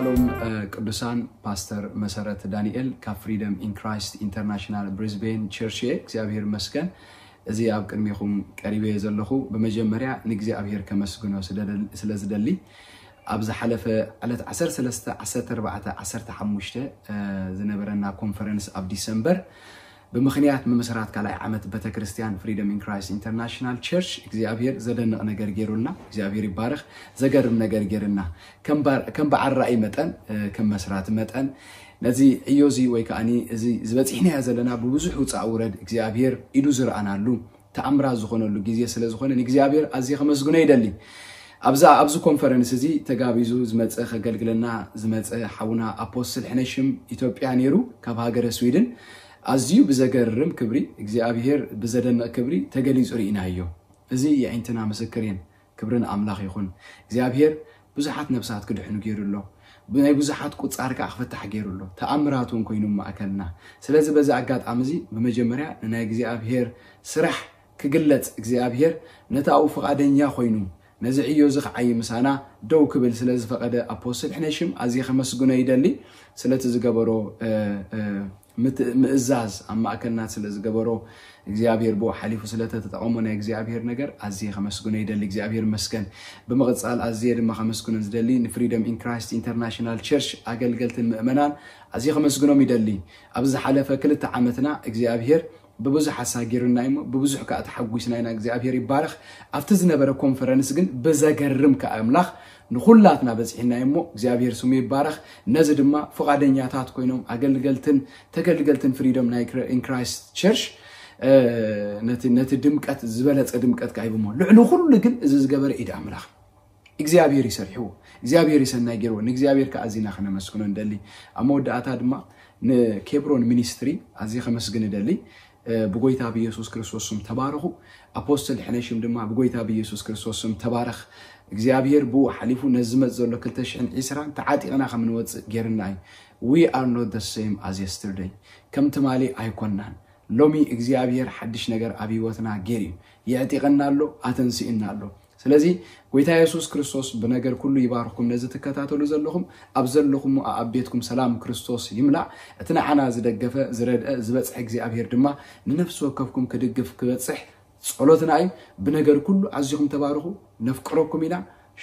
ሎም ቅዱሳን፣ ፓስተር መሰረት ዳንኤል ካብ ፍሪደም ኢን ክራይስት ኢንተርናሽናል ብሪዝቤን ቸርች እየ። እግዚኣብሔር መስገን እዚ ኣብ ቅድሜኹም ቀሪበ ዘለኹ። ብመጀመርያ ንእግዚኣብሔር ከመስግኖ ስለ ዝደሊ፣ ኣብ ዝሓለፈ ዕለት ዓሰርተ ሰለስተ፣ ዓሰርተ ኣርባዕተ፣ ዓሰርተ ሓሙሽተ ዝነበረና ኮንፈረንስ ኣብ ዲሰምበር ብምኽንያት ምምስራት ካልኣይ ዓመት ቤተክርስትያን ፍሪደም ኢን ክራይስት ኢንተርናሽናል ቸርች እግዚኣብሔር ዘደንቕ ነገር ገይሩልና። እግዚኣብሔር ይባረኽ። ዘገርም ነገር ገይርና ከም በዓል ራእይ መጠን፣ ከም መስራቲ መጠን ነዚ ዕዮ እዚ ወይ ከዓ እዚ ዝበፂሕናዮ ዘለና ብብዙሕ ውፃእ ውረድ እግዚኣብሔር ኢዱ ዝረኣናሉ ተኣምራት ዝኾነሉ ግዜ ስለ ዝኾነ ንእግዚኣብሔር ኣዝየ ከመስግኖ ይደሊ። ኣብዛ ኣብዚ ኮንፈረንስ እዚ ተጋቢዙ ዝመፀ ከገልግለና ዝመፀ ሓውና ኣፖስትል ሕነሽም ኢትዮጵያ ነይሩ ካብ ሃገረ ስዊድን። ኣዝዩ ብዘገርም ክብሪ እግዚኣብሔር ብዘደንቕ ክብሪ ተገሊጹ ርኢናዮ። እዚ የዒንትና ምስክር እየን። ክብሪ ንኣምላኽ ይኹን። እግዚኣብሔር ብዙሓት ነብሳት ክድሕኑ ገይሩ ኣሎ። ብናይ ብዙሓት ቁጻር ከዓ ክፍታሕ ገይሩ ኣሎ። ተኣምራት እውን ኮይኑ ማእከልና። ስለዚ በዚ ኣጋጣሚ እዚ ብመጀመርያ ንናይ እግዚኣብሔር ስራሕ ክግለጽ እግዚኣብሔር ነታኡ ፍቓደኛ ኮይኑ ነዚ ዕዮ እዚ ክዓይ ምሳና ደው ክብል ስለ ዝፈቐደ ኣፖስትል ሕነሽም ኣዝየ ከመስግኖ ይደሊ። ስለቲ ዝገበሮ ምእዛዝ ኣብ ማእከልና ስለ ዝገበሮ እግዚኣብሔር ብኡ ሓሊፉ ስለ ተተጠቐሞ ናይ እግዚኣብሔር ነገር ኣዝየ ከመስግኖ ይደሊ። እግዚኣብሔር መስገን። ብምቕጻል ኣዝየ ድማ ከመስግኖ ዝደሊ ንፍሪደም ኢን ክራይስት ኢንተርናሽናል ቸርች ኣገልገልትን ምእመናን ኣዝየ ከመስግኖም ይደሊ። ኣብ ዝሓለፈ ክልተ ዓመትና እግዚኣብሔር ብብዙሕ ኣሳጊሩና እሞ ብብዙሕ ከዓ ተሓጒስና ኢና። እግዚኣብሔር ይባረኽ። ኣብቲ ዝነበረ ኮንፈረንስ ግን ብዘገርም ከዓ ኣምላኽ ንኹላትና በፂሕና እሞ እግዚኣብሔር ስሙ ይባረኽ። ነዚ ድማ ፍቓደኛታት ኮይኖም ኣገልገልትን ተገልገልትን ፍሪደም ናይ ኢን ክራይስት ቸርች ነቲ ድምቀት ዝበለፀ ድምቀት ከዓ ሂቦሞ። ልዕሊ ኩሉ ግን እዚ ዝገበረ ኢድ ኣምላኽ እግዚኣብሔር ይሰርሕዎ። እግዚኣብሔር ይሰናይ ገይርዎ። ንእግዚኣብሔር ከዓ ኣዚና ከነመስግኖ ንደሊ። ኣብ መወዳእታ ድማ ንኬብሮን ሚኒስትሪ ኣዝየ ከመስግን እደሊ። ብጎይታ ብኢየሱስ ክርስቶስ ስም ተባረኹ። ኣፖስትል ሕነሽም ድማ ብጎይታ ብኢየሱስ ክርስቶስ ስም ተባረኽ። እግዚኣብሔር ብኡ ሓሊፉ ነዚ ዝመጽእ ዘሎ ክልተ ሽሕን ዕስራን ተዓጢቕና ከም ንወጽእ ገይርና እዩ። We are not the same as yesterday። ከም ትማሊ ኣይኮናን። ሎሚ እግዚኣብሔር ሓድሽ ነገር ኣብ ህይወትና ገይሩ እዩ። የዕጢቐና ኣሎ፣ ኣተንሲእና ኣሎ። ስለዚ ጎይታ የሱስ ክርስቶስ ብነገር ኩሉ ይባርኽኩም። ነዚ ትከታተሉ ዘለኹም ኣብ ዘለኹም ኣብ ቤትኩም ሰላም ክርስቶስ ይምላእ። እቲ ንዓና ዝደገፈ ዝረድአ ዝበጽሐ እግዚኣብሔር ድማ ንነፍሲ ወከፍኩም ክድግፍ ክበጽሕ ጸሎትና እዩ። ብነገር ኩሉ ኣዚኹም ተባርኹ። ነፍቅረኩም ኢና።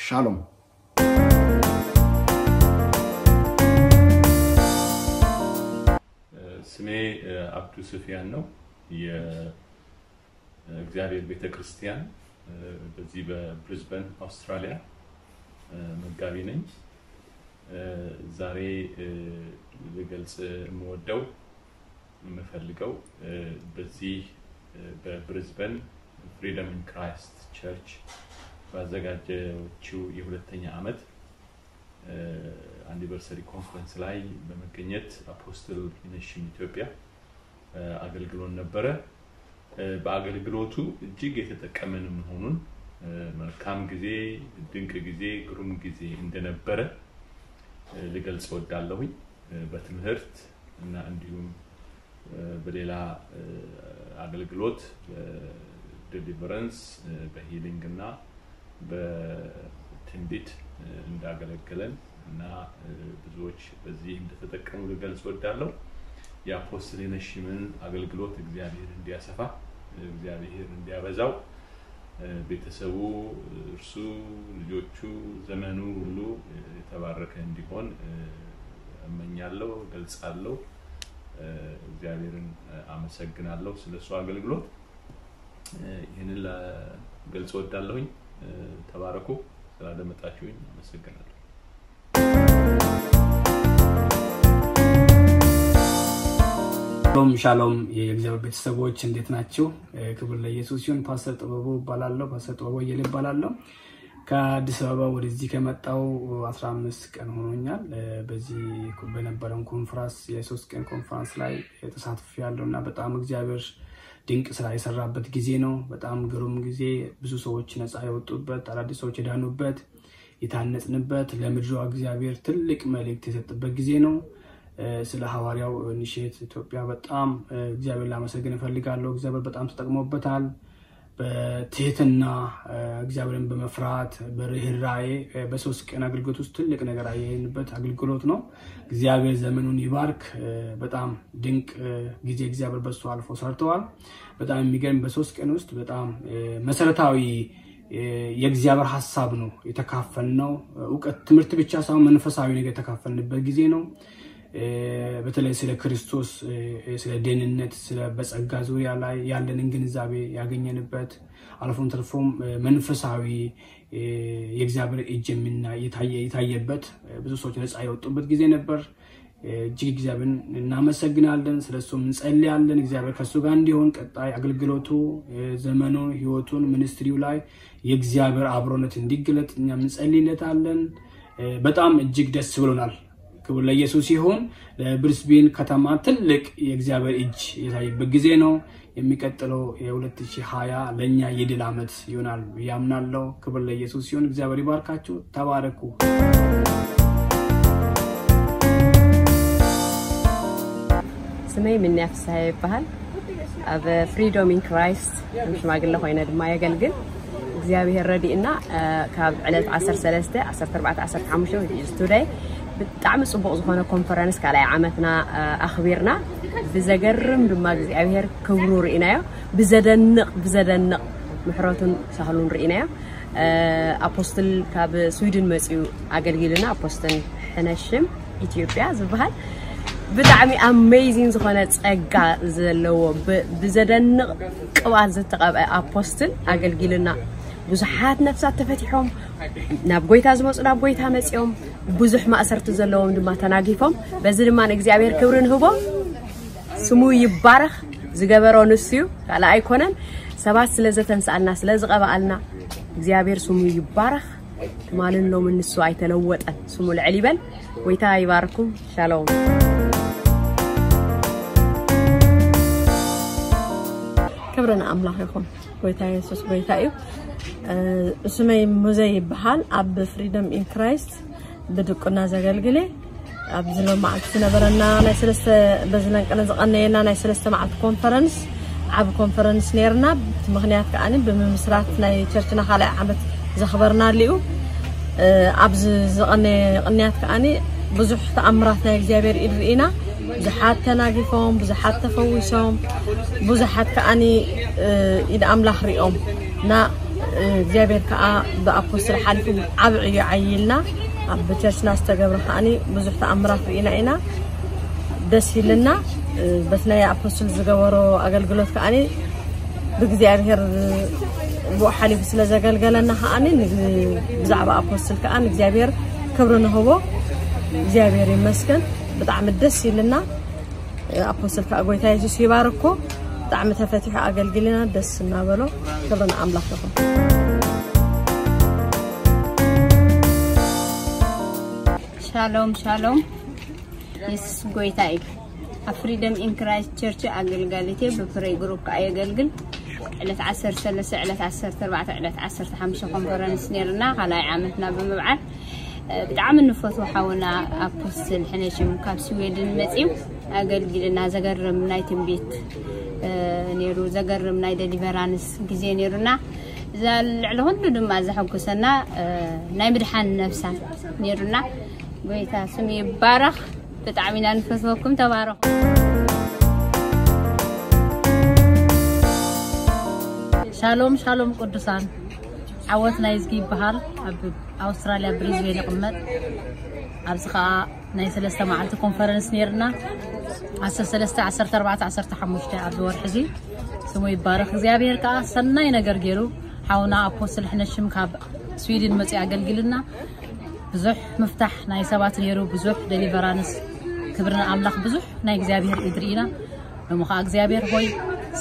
ሻሎም። ስሜ አብዱ ስፊያን ነው። የእግዚአብሔር ቤተ ክርስቲያን በዚህ በብሪዝበን አውስትራሊያ መጋቢ ነኝ። ዛሬ ልገልጽ የምወደው የምፈልገው በዚህ በብሪዝበን ፍሪደም ኢን ክራይስት ቸርች ባዘጋጀችው የሁለተኛ ዓመት አኒቨርሰሪ ኮንፈረንስ ላይ በመገኘት አፖስትል ሂነሽም ኢትዮጵያ አገልግሎን ነበረ። በአገልግሎቱ እጅግ የተጠቀምን መሆኑን፣ መልካም ጊዜ፣ ድንቅ ጊዜ፣ ግሩም ጊዜ እንደነበረ ልገልጽ እወዳለሁኝ። በትምህርት እና እንዲሁም በሌላ አገልግሎት በዴሊቨረንስ፣ በሂሊንግ እና በትንቢት እንዳገለገለን እና ብዙዎች በዚህ እንደተጠቀሙ ልገልጽ እወዳለሁ። የአፖስትል ሂነሽምን አገልግሎት እግዚአብሔር እንዲያሰፋ፣ እግዚአብሔር እንዲያበዛው፣ ቤተሰቡ፣ እርሱ፣ ልጆቹ፣ ዘመኑ ሁሉ የተባረከ እንዲሆን እመኛለሁ፣ እገልጻለሁ። እግዚአብሔርን አመሰግናለሁ ስለሱ አገልግሎት። ይህንን ልገልጽ እወዳለሁኝ። ተባረኩ። ስላደመጣችሁኝ አመሰግናለሁ። ሻሎም ሻሎም፣ የእግዚአብሔር ቤተሰቦች እንዴት ናችሁ? ክብር ለኢየሱስ ይሁን። ፓስተር ጥበቡ እባላለሁ። ፓስተር ጥበቡ አየለ እባላለሁ። ከአዲስ አበባ ወደዚህ ከመጣው አስራ አምስት ቀን ሆኖኛል። በዚህ በነበረን ኮንፍራንስ፣ የሶስት ቀን ኮንፍራንስ ላይ ተሳትፌያለሁ እና በጣም እግዚአብሔር ድንቅ ስራ የሰራበት ጊዜ ነው። በጣም ግሩም ጊዜ፣ ብዙ ሰዎች ነፃ የወጡበት፣ አዳዲስ ሰዎች የዳኑበት፣ የታነጽንበት፣ ለምድሯ እግዚአብሔር ትልቅ መልእክት የሰጠበት ጊዜ ነው። ስለ ሐዋርያው ኢኒሼት ኢትዮጵያ በጣም እግዚአብሔር ላመሰግን እፈልጋለሁ። እግዚአብሔር በጣም ተጠቅሞበታል። በትህትና፣ እ፣ እግዚአብሔርን በመፍራት፣ በርህራሄ፣ እ፣ በሶስት ቀን አገልግሎት ውስጥ ትልቅ ነገር ያየንበት አገልግሎት ነው። እግዚአብሔር ዘመኑን ይባርክ። እ፣ በጣም ድንቅ፣ እ፣ ጊዜ እግዚአብሔር በሱ አልፎ ሰርተዋል። በጣም የሚገርም፣ በሶስት ቀን ውስጥ በጣም፣ እ፣ መሰረታዊ፣ እ፣ የእግዚአብሔር ሐሳብ ነው የተካፈልነው። እውቀት፣ ትምህርት ብቻ ሳይሆን መንፈሳዊ ነገር የተካፈልንበት ጊዜ ነው። እ፣ በተለይ ስለ ክርስቶስ፣ እ፣ ስለ ደህንነት፣ ስለ በጸጋ ዙሪያ ላይ ያለንን ግንዛቤ ያገኘንበት፣ አልፎም ተርፎም፣ እ፣ መንፈሳዊ፣ እ፣ የእግዚአብሔር እጅ የምና-፣ የታየ-፣ የታየበት፣ እ፣ ብዙ ሰዎች ነፃ የወጡበት ጊዜ ነበር። እ፣ እጅግ እግዚአብሔርን እናመሰግናለን። ስለ እሱም እንጸልያለን። እግዚአብሔር ከእሱ ጋር እንዲሆን፣ ቀጣይ አገልግሎቱ፣ እ፣ ዘመኑ፣ ህይወቱን፣ ሚኒስትሪው ላይ የእግዚአብሔር አብሮነት እንዲገለጥ እኛም እንጸልይለታለን። እ፣ በጣም እጅግ ደስ ብሎናል። ክብር ለኢየሱስ ይሁን። ለብሪስቤን ከተማ ትልቅ የእግዚአብሔር እጅ የታየበት ጊዜ ነው። የሚቀጥለው የ2020 ለእኛ የድል ዓመት ይሆናል ብዬ አምናለሁ። ክብር ለኢየሱስ ይሁን። እግዚአብሔር ይባርካችሁ። ተባረኩ። ስመይ ምንያ ፍስሃ ይበሃል። ኣብ ፍሪዶም ኢን ክራይስት ከም ሽማግለ ኮይነ ድማ የገልግል። እግዚኣብሔር ረዲእና፣ እ፣ ካብ ዕለት ዓሰርተ ሰለስተ፣ ዓሰርተ ኣርባዕተ፣ ዓሰርተ ሓሙሽተ፣ which is today፣ ብጣዕሚ ጽቡቕ ዝኾነ ኮንፈረንስ ካልኣይ ዓመትና፣ እ፣ ኣኽቢርና። ብዘገርም ድማ እግዚኣብሔር ክብሩ ርኢናዮ። ብዘደንቕ፣ ብዘደንቕ ምሕረቱን ሳህሉን ርኢናዮ። እ፣ ኣፖስትል ካብ ስዊድን መጺኡ ኣገልጊሉና፣ ኣፖስትል ሕነሽም ኢትዮጵያ ዝበሃል ብጣዕሚ ኣሜዚን ዝኾነ ጸጋ ዘለዎ፣ ብ-፣ ብዘደንቕ ቅብኣት ዝተቐብአ ኣፖስትል ኣገልጊሉና። ብዙሓት ነፍሳት ተፈቲሖም፣ ናብ ጎይታ ዝመጹ ናብ ጎይታ መጺኦም፣ ብዙሕ ማእሰርቲ ዘለዎም ድማ ተናጊፎም። በዚ ድማ ንእግዚኣብሔር ክብሪ ንህቦ። ስሙ ይባረኽ። ዝገበሮ ንሱ እዩ፣ ካልእ ኣይኮነን። ሰባት ስለ ዘተንስኣልና፣ ስለ ዝቐብኣልና እግዚኣብሔር ስሙ ይባረኽ። ትማልን ሎምን ንሱ ኣይተለወጠን። ስሙ ልዕል ይበል። ጎይታ ይባርኩም። ሻሎም። ክብሪ ንኣምላኽ ይኹን። ጎይታ የሱስ ጎይታ እዩ። እ፣ ስመይ ሙዘ ይበሃል። ኣብ ፍሪደም ኢን ክራይስት ብድቁና ዘገልግል እየ። ኣብዚ ሎማዓንቲ ዝነበረና ናይ ሰለስተ፣ በዚ ለንቅነ ዝቐነየና ናይ ሰለስተ መዓልቲ ኮንፈረንስ፣ ዓቢ ኮንፈረንስ ነይርና። እቲ ምኽንያት ከኣኒ ብምምስራት ናይ ቸርችና ካልኣይ ዓመት ዘኽበርናሉ እዩ። እ፣ ኣብዚ ዝቐነየ ቅንያት ከኣኒ ብዙሕ ተኣምራት ናይ እግዚኣብሔር ኢድ ርኢና። ብዙሓት ተናጊፎም፣ ብዙሓት ተፈዊሶም፣ ብዙሓት ከኣኒ፣ እ፣ ኢድ ኣምላኽ ሪኦም እና፣ እ፣ እግዚኣብሔር ከኣ ብኣፖስትል ሓሊፉ ዓቢ ዕዮ ዓይልና። ኣብ ቸርችና ዝተገብረ ከኣኒ ብዙሕ ተኣምራት ርኢና ኢና። ደስ ኢልና። እ፣ በቲ ናይ ኣፖስትል ዝገበሮ ኣገልግሎት ከኣኒ ብእግዚኣብሔር ብኡ ሓሊፉ ስለ ዘገልገለና ከኣኒ ን-፣ ብዛዕባ ኣፖስትል ከኣ ንእግዚኣብሔር ክብሪ ንህቦ። እግዚኣብሔር ይመስገን። ብጣዕሚ ደስ ኢልና። ኣፖስትል ከኣ ጎይታ የሱስ ይባርኮ። ብጣዕሚ ተፈቲሑ ኣገልጊልና ደስ እናበሎ። ክብሪ ንኣምላኽ ይኹን። ሻሎም ሻሎም። የሱስ ጎይታ እዩ። ኣብ ፍሪደም ኢን ክራይስት ቸርች ኣገልጋሊት እየ። ብፕሬይ ግሩፕ ከኣ የገልግል። ዕለት ዓሰርተ ሰለስተ፣ ዕለት ዓሰርተ ኣርባዕተ፣ ዕለት ዓሰርተ ሓሙሽተ ኮንፈረንስ ነይርና፣ ካልኣይ ዓመትና ብምብዓል። እ፣ ብጣዕሚ እንፈትዎ ሓውና ኣፖስትል ሕነሽም ካብ ስዌድን መጺኡ ኣገልጊልና። ዘገርም ናይ ትንቢት፣ እ፣ ነይሩ፣ ዘገርም ናይ ደሊቨራንስ ግዜ ነይሩና። እዛ ልዕሊ ኩሉ ድማ ዘሐጉሰና፣ እ፣ ናይ ምድሓን ነፍሳት ነይሩና። ጎይታ ስሙ ይባረኽ። ብጣዕሚ ኢና ንፈትወኩም። ተባረኹ። ሻሎም ሻሎም ቅዱሳን። ዓወት ናይዝጊ ይበሃል። ኣብ ኣውስትራልያ ብሪዝቤን ይቕመጥ። ኣብዚ ኸኣ ናይ ሰለስተ መዓልቲ ኮንፈረንስ ነይርና። ዓሰርተ ሰለስተ፣ ዓሰርተ ኣርባዕተ፣ ዓሰርተ ሓሙሽተ ኣብዚ ወርሒ እዚ። ስሙ ይባረኽ። እግዚኣብሔር ከኣ ሰናይ ነገር ገይሩ። ሓውና ኣፖስትል ሕነሽም ካብ ስዊድን መጺኡ ኣገልጊልና። ብዙሕ ምፍታሕ ናይ ሰባት ነይሩ፣ ብዙሕ ደሊቨራንስ። ክብሪ ንኣምላኽ። ብዙሕ ናይ እግዚኣብሔር ኢድ ርኢና። ሎሚ ኸኣ እግዚኣብሔር ሆይ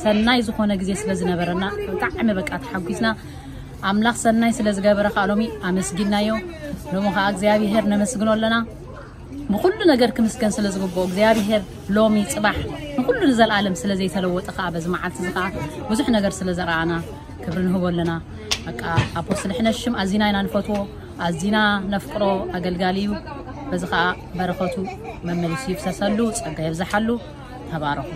ሰናይ ዝኾነ ግዜ ስለ ዝነበረና ብጣዕሚ በቃ ተሓጒስና። ኣምላኽ ሰናይ ስለ ዝገበረ ኸኣ ሎሚ ኣመስጊናዮ። ሎሚ ኸኣ እግዚኣብሔር ነመስግኖ ኣለና። ብኹሉ ነገር ክምስገን ስለ ዝግብኦ እግዚኣብሔር ሎሚ ጽባሕ ንኹሉ ንዘለኣለም ስለ ዘይተለወጠ ኸኣ በዚ መዓልቲ እዚ ኸኣ ብዙሕ ነገር ስለ ዘረኣና ክብሪ ንህቦ ኣለና። በቃ ኣፖስትል ሕነሽም ኣዚና ኢና ንፈትዎ፣ ኣዚና ነፍቅሮ ኣገልጋሊ እዩ። በዚ ኸኣ በረኸቱ መመሊሱ ይፍሰሰሉ፣ ጸጋ የብዝሓሉ። ተባረኹ።